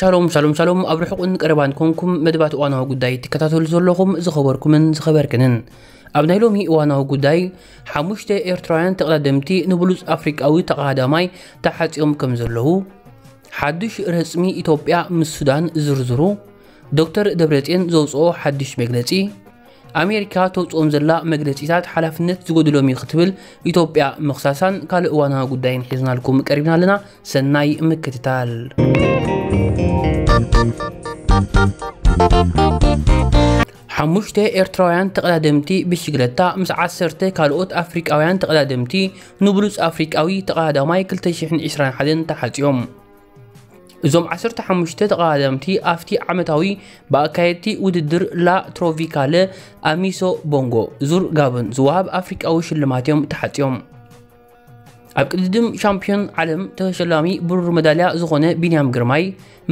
ሻሎም ሻሎም ሻሎም፣ ኣብ ርሑቕን ቀረባን ኮንኩም መደባት እዋናዊ ጉዳይ ትከታተሉ ዘለኹም ዝኸበርኩምን ዝኸበርክንን፣ ኣብ ናይ ሎሚ እዋናዊ ጉዳይ፣ ሓሙሽተ ኤርትራውያን ተቐዳደምቲ ንብሉጽ ኣፍሪቃዊ ተቐዳዳማይ ተሓጽዮም ከም ዘለዉ፣ ሓድሽ ረጽሚ ኢትዮጵያ ምስ ሱዳን ዝርዝሩ፣ ዶክተር ደብረጽዮን ዘውጽኦ ሓድሽ መግለጺ፣ ኣሜሪካ ተውጽኦም ዘላ መግለጺታት ሓላፍነት ዝጎድሎም እዩ ክትብል ኢትዮጵያ ምኽሳሳን ካልእ እዋናዊ ጉዳይን ሒዝናልኩም ቀሪብና ኣለና። ሰናይ ምክትታል። ሓሙሽተ ኤርትራውያን ተቐዳደምቲ ብሽግለታ ምስ ዓሰርተ ካልኦት ኣፍሪቃውያን ተቐዳደምቲ ንብሉጽ ኣፍሪቃዊ ተቐዳዳማይ ክልተ ሽሕን ዕስራን ሓደን ተሓጽዮም። እዞም ዓሰርተ ሓሙሽተ ተቐዳደምቲ ኣብቲ ዓመታዊ ብኣካየድቲ ውድድር ላ ትሮፒካለ ኣሚሶ ቦንጎ ዙር ጋቦን ዝወሃብ ኣፍሪቃዊ ሽልማት እዮም ተሓጽዮም። ኣብ ቅድድም ሻምፒዮን ዓለም ተሸላሚ ብሩር መዳልያ ዝኾነ ቢንያም ግርማይ፣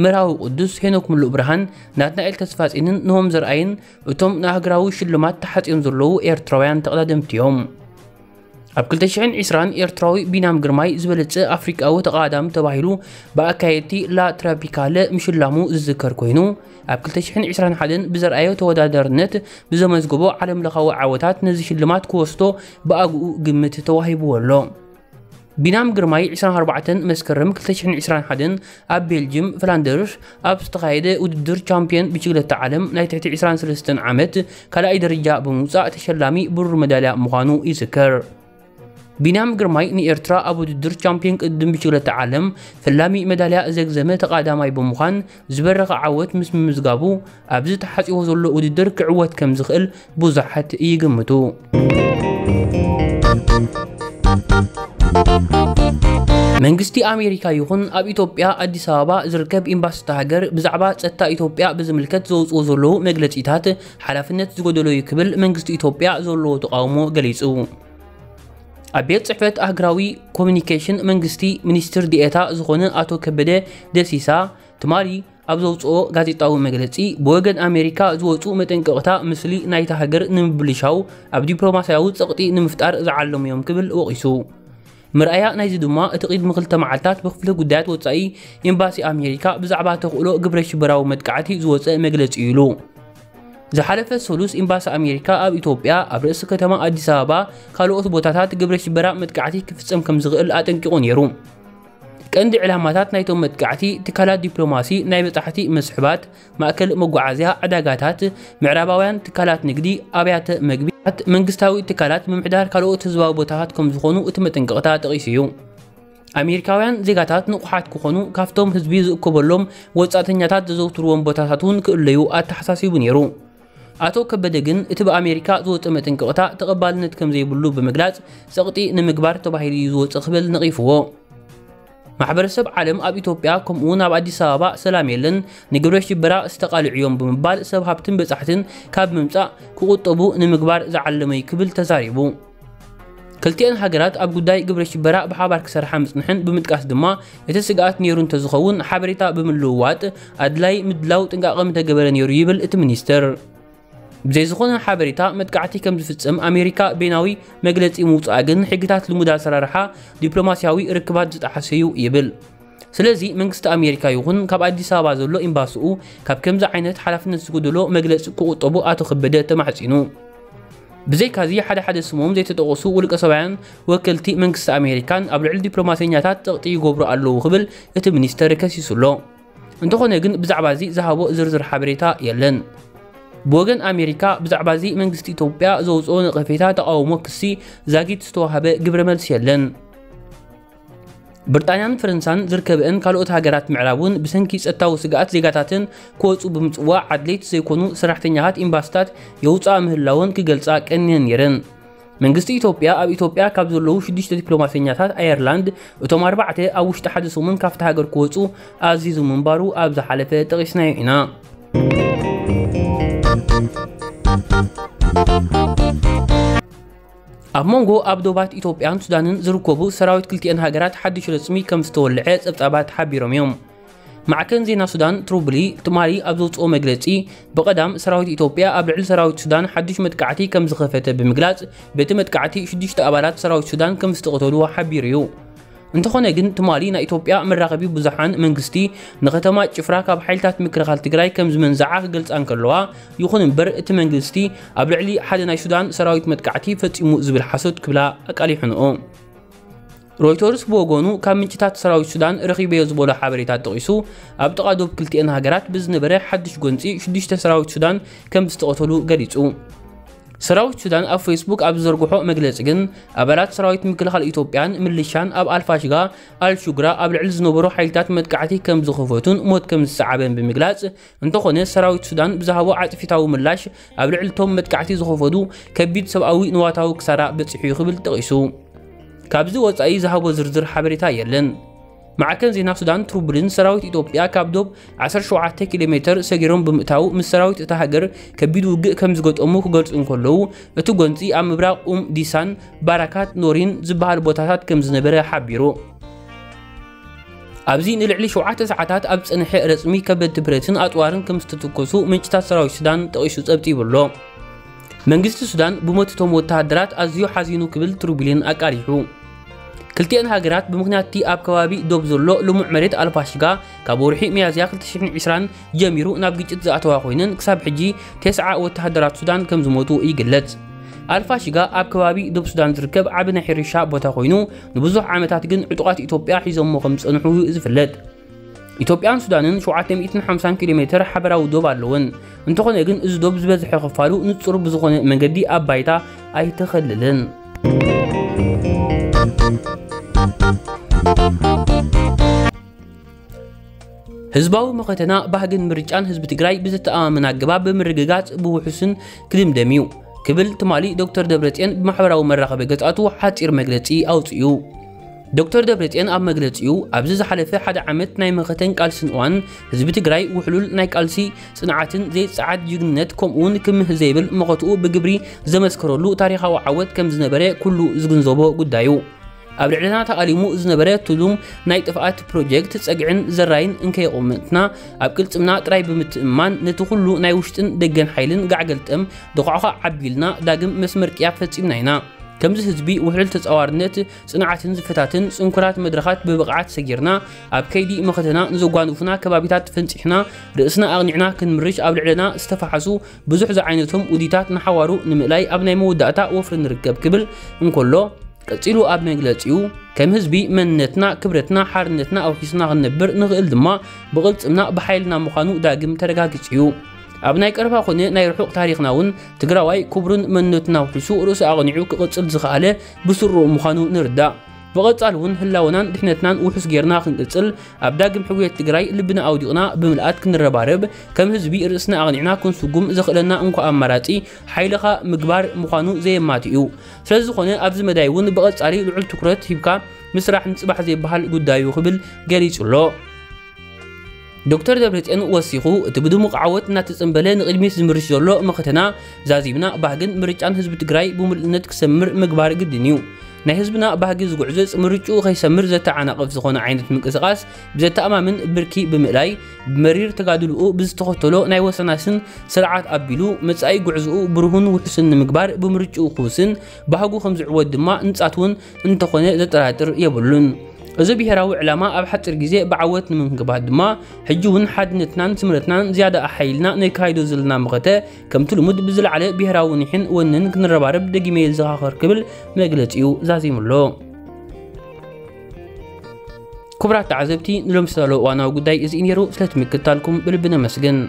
መርሃዊ ቅዱስ፣ ሄኖክ ምሉእ ብርሃን፣ ናትናኤል ተስፋጼንን ኖሆም ዘርኣይን እቶም ንኣህጉራዊ ሽልማት ተሓጽዮም ዘለዉ ኤርትራውያን ተቐዳደምቲ እዮም። ኣብ ክልተ ሽሕን ዕስራን ኤርትራዊ ቢንያም ግርማይ ዝበለጸ ኣፍሪቃዊ ተቐዳዳሚ ተባሂሉ ብኣካየድቲ ላ ትሮፒካለ ምሽላሙ ዝዝከር ኮይኑ፣ ኣብ ክልተ ሽሕን ዕስራን ሓደን ብዘርኣዮ ተወዳዳርነት ብዘመዝገቦ ዓለምለኻዊ ዓወታት ነዚ ሽልማት ክወስዶ ብኣግኡ ግምት ተዋሂብዎ ኣሎ። ቢንያም ግርማይ ዕስራን ኣርባዕተን መስከረም ክልተ ሽሕን ዕስራን ሓደን ኣብ ቤልጅም ፍላንደርስ ኣብ ዝተኻየደ ውድድር ቻምፒዮን ብሽግለታ ዓለም ናይ ትሕቲ ዕስራን ሰለስተን ዓመት ካልኣይ ደረጃ ብምውጻእ ተሸላሚ ብሩር መዳልያ ምዃኑ ይዝከር። ቢንያም ግርማይ ንኤርትራ ኣብ ውድድር ቻምፒዮን ቅድድም ብሽግለታ ዓለም ፈላሚ መዳልያ ዘግዘመ ተቐዳማይ ብምዃን ዝበረኸ ዓወት ምስ ምምዝጋቡ፣ ኣብዚ ተሓጺዎ ዘሎ ውድድር ክዕወት ከም ዝኽእል ብዙሓት ይግምቱ። መንግስቲ ኣሜሪካ ይኹን ኣብ ኢትዮጵያ ኣዲስ ኣበባ ዝርከብ ኤምባሲ እታ ሃገር ብዛዕባ ጸጥታ ኢትዮጵያ ብዝምልከት ዘውጽኦ ዘለዉ መግለጺታት ሓላፍነት ዝጎደሎ እዩ ክብል መንግስቲ ኢትዮጵያ ዘለዎ ተቃውሞ ገሊጹ። ኣብ ቤት ጽሕፈት ኣህጉራዊ ኮሚኒኬሽን መንግስቲ ሚኒስትር ዲኤታ ዝኾነ ኣቶ ከበደ ደሲሳ ትማሊ ኣብ ዘውጽኦ ጋዜጣዊ መግለጺ፣ ብወገን ኣሜሪካ ዝወጹ መጠንቀቕታ ምስሊ ናይታ ሃገር ንምብልሻው ኣብ ዲፕሎማስያዊ ጸቕጢ ንምፍጣር ዝዓለሙ እዮም ክብል ወቒሱ። መርኣያ ናይዚ ድማ እቲ ቅድሚ ክልተ መዓልታት ብክፍሊ ጉዳያት ወጻኢ ኤምባሲ ኣሜሪካ ብዛዕባ ተኽእሎ ግብረ ሽበራዊ መጥቃዕቲ ዝወጸ መግለጺ እዩ ኢሉ። ዝሓለፈ ሰሉስ ኤምባሲ ኣሜሪካ ኣብ ኢትዮጵያ ኣብ ርእሲ ከተማ ኣዲስ ኣበባ ካልኦት ቦታታት ግብረ ሽበራ መጥቃዕቲ ክፍጸም ከም ዝኽእል ኣጠንቂቑ ነይሩ። ቀንዲ ዕላማታት ናይቶም መጥቃዕቲ ትካላት ዲፕሎማሲ፣ ናይ በጻሕቲ መስሕባት፣ ማእከል መጓዓዝያ፣ ዕዳጋታት፣ ምዕራባውያን ትካላት ንግዲ፣ ኣብያተ መግቢ፣ መንግስታዊ ትካላት፣ ምምሕዳር ካልኦት ህዝባዊ ቦታታት ከም ዝኾኑ እቲ መጠንቀቕታ ጠቒሱ እዩ። ኣሜሪካውያን ዜጋታት ንቑሓት ክኾኑ፣ ካብቶም ህዝቢ ዝእከበሎም ወጻእተኛታት ዘዘውትርዎም ቦታታት እውን ክእለዩ ኣተሓሳሲቡ ነይሩ። ኣቶ ከበደ ግን እቲ ብኣሜሪካ ዝወጸ መጠንቀቕታ ተቐባልነት ከም ዘይብሉ ብምግላጽ፣ ጸቕጢ ንምግባር ተባሂሉ እዩ ዝወጸ ክብል ነቒፍዎ። ማሕበረሰብ ዓለም ኣብ ኢትዮጵያ ከምኡ'ውን ኣብ ኣዲስ ኣበባ ሰላም የለን፣ ንግብረ ሽበራ ዝተቓልዑ እዮም ብምባል ሰብ ሃብትን በጻሕትን ካብ ምምጻእ ክቑጠቡ ንምግባር ዝዓለመ እዩ ክብል ተዛሪቡ። ክልቲኣን ሃገራት ኣብ ጉዳይ ግብረ ሽበራ ብሓባር ክሰርሓ ምጽንሐን ብምጥቃስ ድማ፣ እቲ ስግኣት ነይሩ እንተዝኸውን ሓበሬታ ብምልውዋጥ ኣድላይ ምድላው ጥንቃቐ ምተገበረ ነይሩ ይብል እቲ ሚኒስትር። ብዘይ ዝኾነ ሓበሬታ መጥቃዕቲ ከም ዝፍጸም ኣሜሪካ በይናዊ መግለጺ ምውጻኣ ግን ሕግታት ልሙድ ኣሰራርሓ ዲፕሎማስያዊ ርክባት ዝጠሓሰ እዩ ይብል። ስለዚ መንግስቲ ኣሜሪካ ይኹን ካብ ኣዲስ ኣበባ ዘሎ ኤምባሲኡ ካብ ከምዚ ዓይነት ሓላፍነት ዝጎደሎ መግለጺ ክቑጠቡ ኣቶ ከበደ ተማሕጺኑ። ብዘይካዚ ሓደ ሓደ ስሞም ዘይተጠቐሱ ውልቀ ሰባያን ወከልቲ መንግስቲ ኣሜሪካን ኣብ ልዕሊ ዲፕሎማሰኛታት ጸቕጢ ይገብሩ ኣለዉ ክብል እቲ ሚኒስተር ከሲሱ ኣሎ። እንተኾነ ግን ብዛዕባ እዚ ዝሃቦ ዝርዝር ሓበሬታ የለን። ብወገን ኣሜሪካ ብዛዕባ እዚ መንግስቲ ኢትዮጵያ ዘውፅኦ ነቐፌታ ተቓውሞ ክሲ ዛጊት ዝተዋህበ ግብረ መልሲ የለን። ብሪጣንያን ፈረንሳን ዝርከበአን ካልኦት ሃገራት ምዕራብ እውን ብሰንኪ ጸጥታዊ ስግኣት ዜጋታተን ክወፁ ብምፅዋዕ ኣድለይቲ ዘይኮኑ ሰራሕተኛታት ኤምባሲታት የውፅኣ ምህላወን ክገልፃ ቀንየን ነይረን። መንግስቲ ኢትዮጵያ ኣብ ኢትዮጵያ ካብ ዘለዉ ሽዱሽተ ዲፕሎማሰኛታት ኣየርላንድ እቶም ኣርባዕተ ኣብ ውሽጢ ሓደ ሰሙን ካብቲ ሃገር ክወፁ ኣዚዙ ምንባሩ ኣብ ዝሓለፈ ጠቒስናዮ ኢና። ኣብ መንጎ ኣብ ዶባት ኢትዮጵያን ሱዳንን ዝርከቡ ሰራዊት ክልቲአን ሃገራት ሓድሽ ረጽሚ ከም ዝተወልዐ ጸብጻባት ሓቢሮም እዮም። ማዕከን ዜና ሱዳን ትሩብሊ ትማሊ ኣብ ዘውጽኦ መግለጺ፣ ብቐዳም ሰራዊት ኢትዮጵያ ኣብ ልዕሊ ሰራዊት ሱዳን ሓድሽ መጥቃዕቲ ከም ዝኸፈተ ብምግላጽ፣ በቲ መጥቃዕቲ ሽዱሽተ ኣባላት ሰራዊት ሱዳን ከም ዝተቐተሉ ሓቢሩ እዩ። እንተኾነ ግን ትማሊ ናይ ኢትዮጵያ መራኸቢ ብዙሓን መንግስቲ ንከተማ ጭፍራ ካብ ሓይልታት ምክልኻል ትግራይ ከም ዝመንዝዓ ክገልጻ እንከለዋ፣ ይኹን እምበር እቲ መንግስቲ ኣብ ልዕሊ ሓደ ናይ ሱዳን ሰራዊት መጥቃዕቲ ፈጺሙ ዝብል ሓሶት ክብላ ኣቃሊሑንኦ። ሮይተርስ ብወገኑ ካብ ምንጭታት ሰራዊት ሱዳን ረኺበዮ ዝበሎ ሓበሬታ ጠቒሱ፣ ኣብ ጥቓ ዶብ ክልቲኤን ሃገራት ብዝነበረ ሓድሽ ጎንፂ ሽዱሽተ ሰራዊት ሱዳን ከም ዝተቐተሉ ገሊጹ። ሰራዊት ሱዳን ኣብ ፌስቡክ ኣብ ዝዘርግሖ መግለጺ ግን፣ ኣባላት ሰራዊት ምክልኻል ኢትዮጵያን ምልሻን ኣብ ኣልፋሽጋ ኣልሹግራ ኣብ ልዕሊ ዝነበሩ ሓይልታት መጥቃዕቲ ከም ዝኸፈቱን ሞት ከም ዝሰዓበን ብምግላጽ፣ እንተኾነ ሰራዊት ሱዳን ብዝሃቦ ዓጽፊታዊ ምላሽ ኣብ ልዕሊ እቶም መጥቃዕቲ ዝኸፈቱ ከቢድ ሰብኣዊ ንዋታዊ ክሳራ በጺሑ እዩ ክብል ጠቒሱ። ካብዚ ወጻኢ ዝሃቦ ዝርዝር ሓበሬታ የለን። ማዕከን ዜና ሱዳን ትሩቡልን ሰራዊት ኢትዮጵያ ካብ ዶብ ዓሰርተ ሸውዓተ ኪሎ ሜተር ሰጊሮም ብምእታው ምስ ሰራዊት እታ ሃገር ከቢድ ውግእ ከም ዝገጠሙ ክገልጹ እንከለዉ፣ እቲ ጎንጺ ኣብ ምብራቕ ኡም ዲሳን ባራካት ኖሪን ዝበሃል ቦታታት ከም ዝነበረ ሓቢሩ። ኣብዚ ንልዕሊ ሸውዓተ ሰዓታት ኣብ ዝጸንሐ ረጽሚ ከበድቲ ብረትን ኣጽዋርን ከም ዝተተኮሱ ምንጭታት ሰራዊት ሱዳን ጠቒሱ ጸብጺቡ ኣሎ። መንግስቲ ሱዳን ብሞት እቶም ወተሃደራት ኣዝዩ ሓዚኑ ክብል ትሩቡልን ኣቃሊሑ። ክልቲኤን ሃገራት ብምኽንያት እቲ ኣብ ከባቢ ዶብ ዘሎ ልሙዕ መሬት ኣልፋሽጋ ካብ ወርሒ ሚያዝያ ክልተ ሽሕን ዕስራን ጀሚሩ ናብ ግጭት ዝኣተዋ ኮይነን ክሳብ ሕጂ ተስዓ ወተሃደራት ሱዳን ከም ዝሞቱ ይግለጽ። ኣልፋሽጋ ኣብ ከባቢ ዶብ ሱዳን ዝርከብ ዓቢ ናይ ሕርሻ ቦታ ኮይኑ ንብዙሕ ዓመታት ግን ዕጡቓት ኢትዮጵያ ሒዞሞ ከም ዝጸንሑ እዩ ዝፍለጥ። ኢትዮጵያን ሱዳንን ሸውዓተ ሚእትን ሓምሳን ኪሎ ሜተር ሓበራዊ ዶብ ኣለወን። እንተኾነ ግን እዚ ዶብ ዝበዝሐ ክፋሉ ንጹር ብዝኾነ መንገዲ ኣብ ባይታ ኣይተኸልልን። ህዝባዊ መኸተና ባህግን ምርጫን ህዝቢ ትግራይ ብዝተኣማመን ኣገባብ ብምርግጋጽ ብውሑስን ክድምደም እዩ ክብል ትማሊ ዶክተር ደብረጽዮን ብማሕበራዊ መራኸቢ ገጻቱ ሓጺር መግለጺ ኣውጺኡ። ዶክተር ደብረጽዮን ኣብ መግለጺኡ፣ ኣብዚ ዝሓለፈ ሓደ ዓመት ናይ መኸተን ቃልስን እዋን ህዝቢ ትግራይ ውሕሉል ናይ ቃልሲ ጽንዓትን ዘይጸዓድ ጅግንነት ከምኡውን ክምህ ዘይብል መኸትኡ ብግብሪ ዘመስከረሉ ታሪኻዊ ዓወት ከም ዝነበረ ኩሉ ዝግንዘቦ ጉዳዩ። ኣብ ልዕልና ተኣሊሙ ዝነበረ ትሉም ናይ ጥፍኣት ፕሮጀክት ጸግዕን ዘራይን እንከየቑምትና ኣብ ቅልጽምና ጥራይ ብምትእምማን ነቲ ኩሉ ናይ ውሽጥን ደገን ሓይልን ጋዕገልጠም ደኳዕኳዕ ዓቢልና ዳግም መስመር ቅያ ፈጺምና ኢና። ከምዚ ህዝቢ ውሕሉል ተጻዋርነት ጽንዓትን ዝፈታትን ጽንኩራት መድረኻት ብብቕዓት ሰጊርና ኣብ ከይዲ መኸተና ንዘጓንፉና ከባቢታት ፈንጺሕና ርእስና ኣቕኒዕና ክንምርሽ ኣብ ልዕለና ዝተፈሓሱ ብዙሕ ዝዓይነቶም ውዲታት ንሓዋሩ ንምእላይ ኣብ ናይ መወዳእታ ወፍሪ ንርከብ ክብል እንከሎ፣ ቀጺሉ ኣብ መግለጺኡ፣ ከም ህዝቢ መንነትና፣ ክብረትና፣ ሓርነትና ኣውሒስና ክንነብር ንኽእል ድማ ብቕልጽምና ብሓይልና ምዃኑ ዳግም ተረጋጊጹ እዩ። ኣብ ናይ ቀረባ ኮነ ናይ ርሑቕ ታሪኽና እውን ትግራዋይ ክብሩን መንነቱን ኣውሒሱ ርእሱ ኣቕኒዑ ክቕጽል ዝኸኣለ ብስሩኡ ምዃኑ ንርዳእ። ብቐጻሊ እውን ህላወናን ድሕነትናን ውሑስ ጌርና ክንቅጽል ኣብ ዳግም ሕውየት ትግራይ ልብና ኣውዲቕና ብምልኣት ክንረባረብ ከም ህዝቢ ርእስና ኣቕኒዕና ክንስጉም ዘኽእለና እንኳ ኣማራጺ ሓይልኻ ምግባር ምዃኑ ዘየማቲ እዩ። ስለዝኾነ ኣብዚ መዳይ እውን ብቐጻሊ ልዑል ትኩረት ሂብካ ምስራሕ ንጽባሕ ዘይበሃል ጉዳይ እዩ ክብል ገሊጹ ኣሎ። ዶክተር ደብረጽዮን ወሲኹ፣ እቲ ብድሙቕ ዓወት እናተጸንበለ ንቕድሚት ዝምርሽ ዘሎ መኸተና ዛዚምና ባህግን ምርጫን ህዝቢ ትግራይ ብምሉእነት ክሰምር ምግባር ግድን እዩ። ናይ ህዝብና ባህጊ ዝጉዕዞ ምርጭኡ ከይሰምር ዘተዓናቕፍ ዝኾነ ዓይነት ምንቅስቓስ ብዘተኣማምን ብርኪ ብምእላይ፣ ብመሪር ተጋድልኡ ብዝተኸተሎ ናይ ወሰናስን ስርዓት ኣቢሉ መጻኢ ጉዕዞኡ ብሩህን ውሑስን ንምግባር ብምርጭኡ ክውስን ባህጉ ከም ዝዕወት ድማ ንጻት እውን እንተኾነ ዘጠራጥር የብሉን። እዚ ብሄራዊ ዕላማ ኣብ ሓጺር ግዜ ብዓወት ንምንግባት ድማ ሕጂ እውን ሓድነትናን ስምረትናን ዝያዳ ኣሓይልና ነካይዶ ዘለና መኸተ ከምቲ ልሙድ ብዝለዓለ ብሄራዊ ኒሕን ወንን ክንረባረብ ደጊመ የዘኻኽር ክብል መግለጺኡ ዛዚሙ ኣሎ። ክቡራት ተዓዘብቲ፣ ንሎም ዝተዳለወ እዋናዊ ጉዳይ እዚ እዩ ነይሩ። ስለቲ ምክትታልኩም ብልቢ ነመስግን።